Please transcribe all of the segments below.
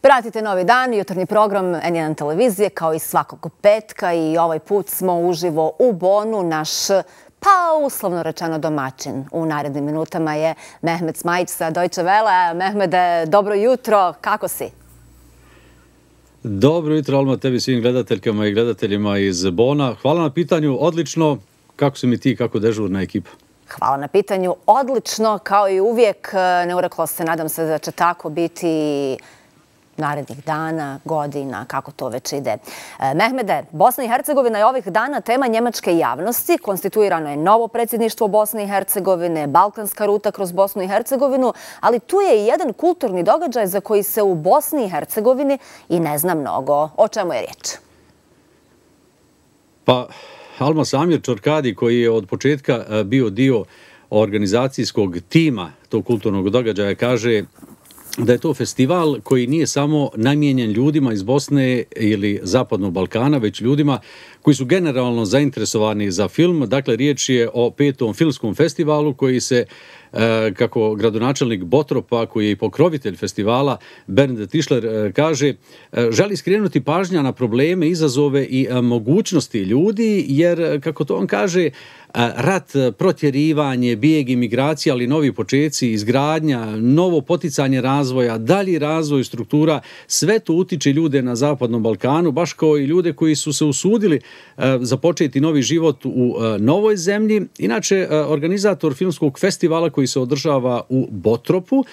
Pratite Novi dan, jutarnji program N1 televizije, kao i svakog petka, i ovaj put smo uživo u Bonu. Naš, uslovno rečeno, domaćin u narednim minutama je Mehmet Smajić sa Deutsche Welle. Mehmede, dobro jutro, kako si? Dobro jutro, Alma, tebi, svim gledateljkama i gledateljima iz Bona. Hvala na pitanju, odlično. Kako si mi ti, kako dežurna ekipa? Hvala na pitanju, odlično, kao i uvijek. Ne ureklo se, nadam se da će tako biti narednih dana, godina, kako to već ide. Mehmede, Bosna i Hercegovina je ovih dana tema njemačke javnosti. Konstituirano je novo predsjedništvo Bosne i Hercegovine, balkanska ruta kroz Bosnu i Hercegovinu, ali tu je i jedan kulturni događaj za koji se u Bosni i Hercegovini i ne zna mnogo. O čemu je riječ? Pa, Alma, Samir Čorkadi, koji je od početka bio dio organizacijskog tima tog kulturnog događaja, kaže da je to festival koji nije samo namijenjen ljudima iz Bosne ili Zapadnog Balkana, već ljudima koji su generalno zainteresovani za film. Dakle, riječ je o 5. filmskom festivalu koji se, kako gradonačelnik Botropa, koji je i pokrovitelj festivala, Bernd Tischler, kaže, želi skrenuti pažnja na probleme, izazove i mogućnosti ljudi, jer, kako to on kaže, rat, protjerivanje, bijeg, imigracija, ali novi počeci, izgradnja, novo poticanje razvoja, dalji razvoj struktura, sve to utiče ljude na Zapadnom Balkanu, baš kao i ljude koji su se usudili započeti novi život u novoj zemlji. Inače, organizator filmskog festivala koji se održava u Botropu,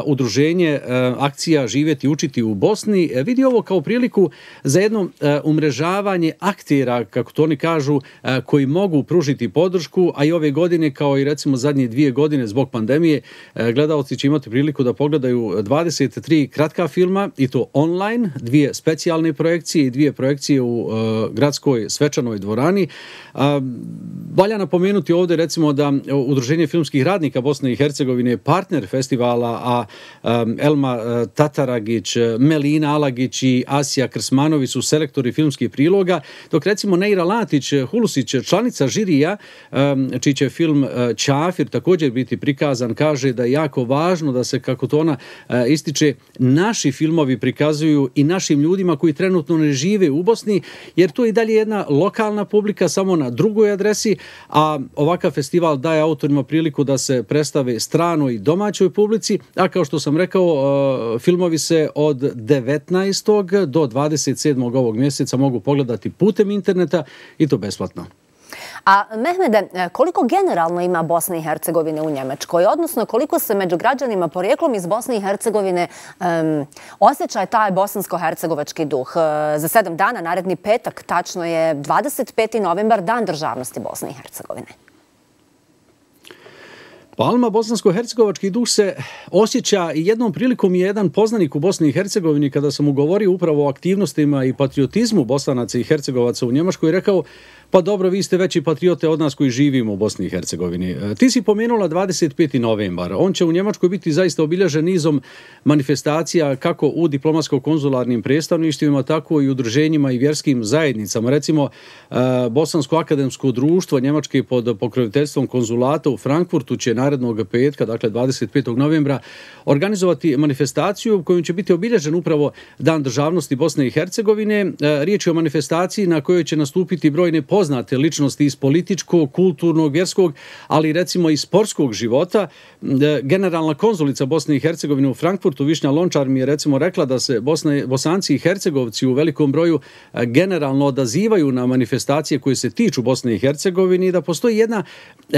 udruženje akcija Živjeti i učiti u Bosni, vidi ovo kao priliku za jedno umrežavanje aktera, kako to oni kažu, koji mogu pružiti podršku, a i ove godine, kao i recimo zadnje 2 godine zbog pandemije, gledalci će imati priliku da pogledaju 23 kratka filma, i to online, 2 specijalne projekcije i 2 projekcije u gradskoj svečanoj dvorani. Valja napomenuti ovdje recimo da Udruženje filmskih radnika Bosne i Hercegovine je partner festivala, a Elma Tataragić, Melina Alagić i Asija Krsmanović su selektori filmskih priloga, dok recimo Neira Latić Hulusić, članica žirija, čiji će film Ćafir također biti prikazan, kaže da je jako važno da se, kako to ona ističe, naši filmovi prikazuju i našim ljudima koji trenutno ne žive u Bosni, jer to je i dalje jedna lokalna publika samo na drugoj adresi, a ovakav festival daje autorima priliku da se predstave stranoj i domaćoj publici, a kao što sam rekao, filmovi se od 19. do 27. ovog mjeseca mogu pogledati putem interneta, i to besplatno. A Mehmede, koliko generalno ima Bosne i Hercegovine u Njemačkoj, odnosno koliko se među građanima porijeklom iz Bosne i Hercegovine osjeća taj bosansko-hercegovački duh? Za 7 dana, naredni petak, tačno je 25. novembar, Dan državnosti Bosne i Hercegovine. Alma, bosansko-hercegovački duh se osjeća, i jednom prilikom je jedan poznanik u Bosni i Hercegovini, kada sam mu govorio upravo o aktivnostima i patriotizmu Bosanaca i Hercegovaca u Njemačkoj, rekao: pa dobro, vi ste veći patriote od nas koji živimo u Bosni i Hercegovini. Ti si pomenula 25. novembar. On će u Njemačkoj biti zaista obilježen nizom manifestacija, kako u diplomatsko-konzularnim predstavništvima, tako i udruženjima i vjerskim zajednicama. Recimo, Bosansko akademsko društvo Njemačke pod pokroviteljstvom konzulata u Frankfurtu će narednog petka, dakle 25. novembra, organizovati manifestaciju kojom će biti obilježen upravo Dan državnosti Bosne i Hercegovine. Riječ je o manifestaciji na kojoj će nastupiti brojne poznate ličnosti iz političkog, kulturnog, vjerskog, ali recimo i sportskog života. Generalna konzulica Bosne i Hercegovine u Frankfurtu, Višnja Lončar, mi je recimo rekla da se Bosanci i Hercegovci u velikom broju generalno odazivaju na manifestacije koje se tiču Bosne i Hercegovine, i da postoji jedna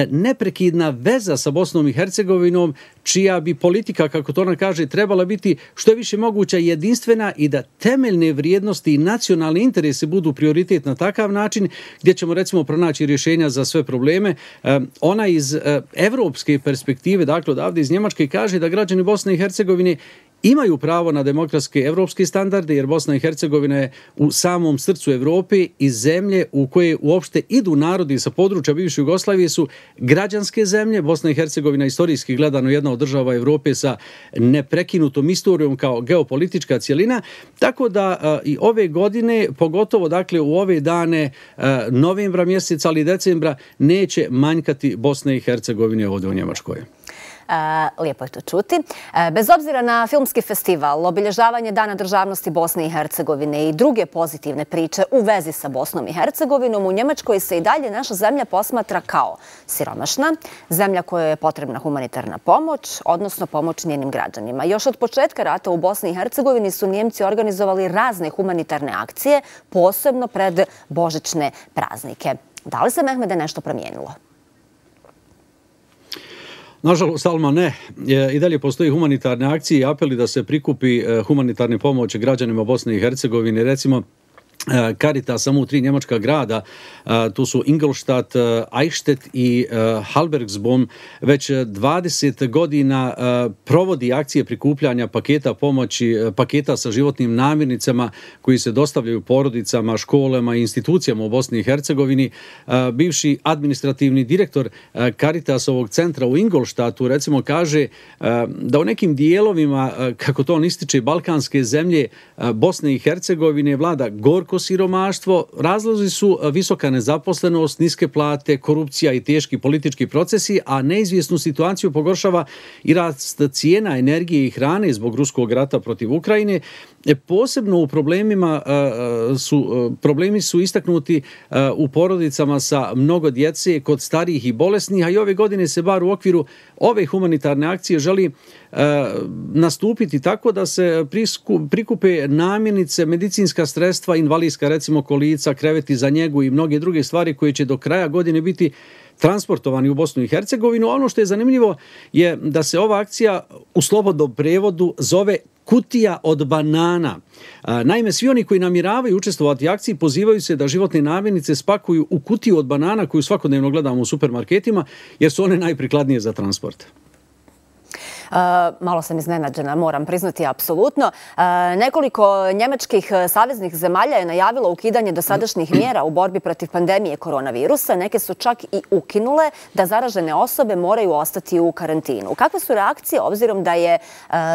neprekidna veza sa Bosnom i Hercegovinom, čija bi politika, kako to ona kaže, trebala biti što je više moguća jedinstvena, i da temeljne vrijednosti i nacionalni interesi budu prioritet na takav način, gdje ćemo recimo pronaći rješenja za sve probleme. Ona iz evropske perspektive, dakle odavde iz Njemačke, kaže da građani Bosne i Hercegovine imaju pravo na demokratske evropske standarde, jer Bosna i Hercegovina je u samom srcu Evrope i zemlje u koje uopšte idu narodi sa područja bivše Jugoslavije su građanske zemlje. Bosna i Hercegovina istorijski gledano jedna od država Evrope sa neprekinutom istorijom kao geopolitička cjelina, tako da i ove godine, pogotovo dakle u ove dane novembra mjeseca, ali i decembra, neće manjkati Bosne i Hercegovine ovdje u Njemačkoj. Lijepo je to čuti. Bez obzira na filmski festival, obilježavanje Dana državnosti Bosne i Hercegovine i druge pozitivne priče u vezi sa Bosnom i Hercegovinom, u Njemačkoj se i dalje naša zemlja posmatra kao siromašna, zemlja kojoj je potrebna humanitarna pomoć, odnosno pomoć njenim građanima. Još od početka rata u Bosni i Hercegovini su Njemci organizovali razne humanitarne akcije, posebno pred božićne praznike. Da li se, Mehmede, nešto promijenilo? Nažalost, Alma, ne. I dalje postoji humanitarne akcije i apeli da se prikupi humanitarne pomoći građanima Bosne i Hercegovine. Recimo, Caritas samo u 3 njemačka grada, tu su Ingolstadt, Eichstätt i Halbergsbom, već 20 godina provodi akcije prikupljanja paketa pomoći, paketa sa životnim namirnicama koji se dostavljaju porodicama, školama i institucijama u Bosni i Hercegovini. Bivši administrativni direktor Caritasovog centra u Ingolstadtu recimo kaže da u nekim dijelovima, kako to on ističe, balkanske zemlje Bosne i Hercegovine vlada gorko siromaštvo. Razlozi su visoka nezaposlenost, niske plate, korupcija i teški politički procesi, a neizvjesnu situaciju pogoršava i rast cijena energije i hrane zbog ruskog rata protiv Ukrajine. Posebno u problemi su istaknuti u porodicama sa mnogo djece, kod starijih i bolesnih, a i ove godine se bar u okviru ove humanitarne akcije želi nastupiti tako da se prikupe namirnice, medicinska sredstva, invalidska recimo kolica, kreveti za njegu i mnoge druge stvari koje će do kraja godine biti transportovani u Bosnu i Hercegovinu. Ono što je zanimljivo je da se ova akcija u slobodnom prevodu zove kutija od banana. Naime, svi oni koji namjeravaju učestvovati u akciji pozivaju se da životne namirnice spakuju u kutiju od banana koju svakodnevno gledamo u supermarketima, jer su one najprikladnije za transport. Malo sam iznenađena, moram priznati, apsolutno. Nekoliko njemačkih saveznih zemalja je najavilo ukidanje dosadašnjih mjera u borbi protiv pandemije koronavirusa. Neke su čak i ukinule da zaražene osobe moraju ostati u karantinu. Kakve su reakcije, obzirom da je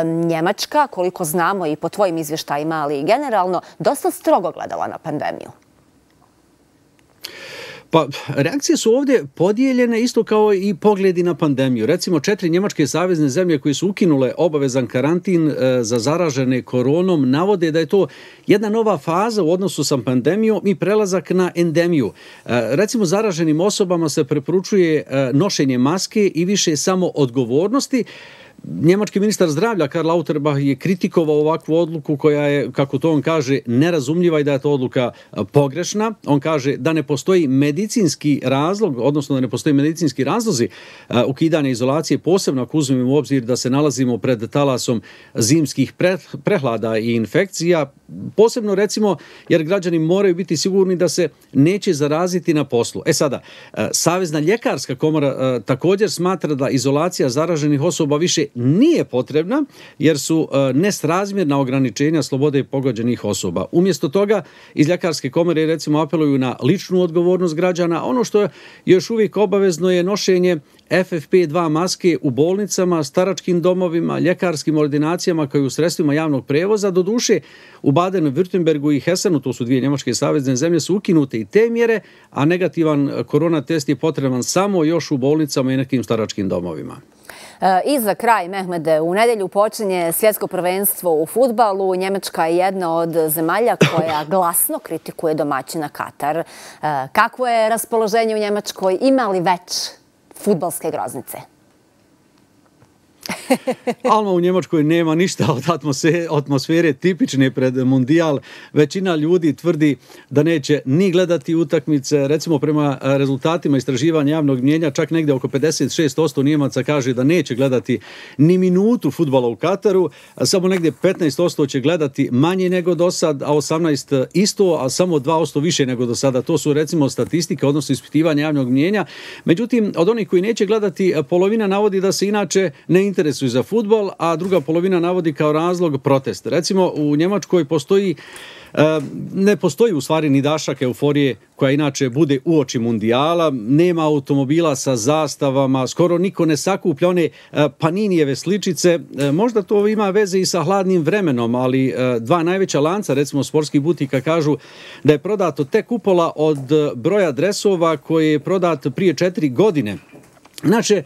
Njemačka, koliko znamo i po tvojim izvještajima, ali i generalno, dosta strogo gledala na pandemiju? Pa, reakcije su ovdje podijeljene isto kao i pogledi na pandemiju. Recimo, 4 njemačke savezne zemlje koje su ukinule obavezan karantin za zaražene koronom navode da je to jedna nova faza u odnosu sa pandemijom i prelazak na endemiju. Recimo, zaraženim osobama se preporučuje nošenje maske i više samo odgovornosti. Njemački ministar zdravlja Karl Lauterbach je kritikovao ovakvu odluku koja je, kako to on kaže, nerazumljiva i da je to odluka pogrešna. On kaže da ne postoji medicinski razlog, odnosno da ne postoji medicinski razlozi ukidanja izolacije, posebno ako uzmemo u obzir da se nalazimo pred talasom zimskih prehlada i infekcija. Posebno recimo jer građani moraju biti sigurni da se neće zaraziti na poslu. Sada, Savezna ljekarska komora također smatra da izolacija zaraženih osoba više nije potrebna jer su nesrazmjerna ograničenja slobode pogođenih osoba. Umjesto toga, iz ljekarske komore recimo apeluju na ličnu odgovornost građana. Ono što je još uvijek obavezno je nošenje FFP2 maske u bolnicama, staračkim domovima, ljekarskim ordinacijama kao i u sredstvima javnog prevoza. Doduše, u Baden-Württembergu i Hessenu, to su 2 njemačke savezne zemlje, su ukinute i te mjere, a negativan korona test je potreban samo još u bolnicama i nekim staračkim domovima. I za kraj, Mehmede, u nedjelju počinje svjetsko prvenstvo u fudbalu. Njemačka je jedna od zemalja koja glasno kritikuje domaćina Katar. Kakvo je raspoloženje u Njemačkoj? Ima li već fudbalske groznice? Alma, u Njemačkoj nema ništa od atmosfere tipične pred Mundijal. Većina ljudi tvrdi da neće ni gledati utakmice. Recimo, prema rezultatima istraživanja javnog mnijenja, čak negdje oko 56% Njemaca kaže da neće gledati ni minutu fudbala u Kataru. Samo negdje 15% će gledati manje nego do sad, a 18% isto, a samo 2% više nego do sada. To su recimo statistike, odnosno ispitivanja javnog mnijenja. Međutim, od onih koji neće gledati, polovina navodi da se inače ne interesuju za fudbal, a druga polovina navodi kao razlog protest. Recimo, u Njemačkoj ne postoji u stvari ni dašak euforije koja inače bude uoči Mundijala, nema automobila sa zastavama, skoro niko ne sakuplja one Paninijeve sličice. Možda to ima veze i sa hladnim vremenom, ali 2 najveća lanca, recimo sportskih butika, kažu da je prodato tek upola od broja dresova koje je prodat prije 4 godine. Inače,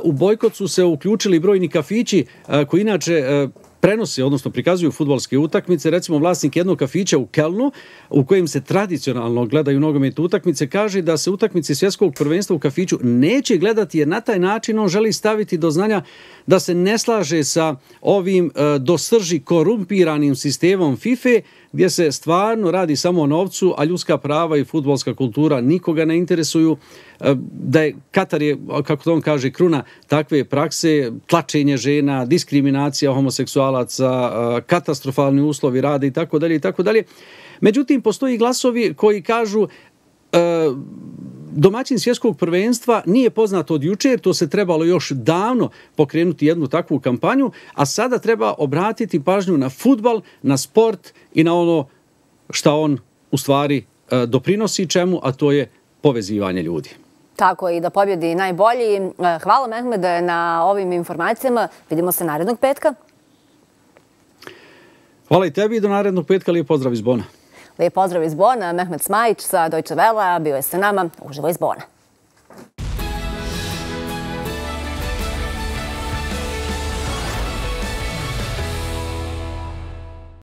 u bojkot su se uključili brojni kafići koji inače prenose, odnosno prikazuju fudbalske utakmice. Recimo, vlasnik jednog kafića u Kelnu, u kojem se tradicionalno gledaju nogometne utakmice, kaže da se utakmice svjetskog prvenstva u kafiću neće gledati, jer na taj način on želi staviti do znanja da se ne slaže sa ovim do srži korumpiranim sistemom FIFA, gdje se stvarno radi samo o novcu, a ljudska prava i fudbalska kultura nikoga ne interesuju. Da je Katar je, kako to on kaže, kruna takve prakse, tlačenje žena, diskriminacija homoseksualaca, katastrofalni uslovi rada i tako dalje i tako dalje. Međutim, postoji glasovi koji kažu domaćin svjetskog prvenstva nije poznato od jučer, to se trebalo još davno pokrenuti jednu takvu kampanju, a sada treba obratiti pažnju na fudbal, na sport i na ono šta on u stvari doprinosi čemu, a to je povezivanje ljudi. Tako i da pobjedi najbolji. Hvala Mehmede na ovim informacijama. Vidimo se narednog petka. Hvala i tebi i do narednog petka. Lijep pozdrav iz Bona. Lijep pozdrav iz Bona. Mehmed Smajić sa Deutsche Welle bio je sa nama uživo iz Bona.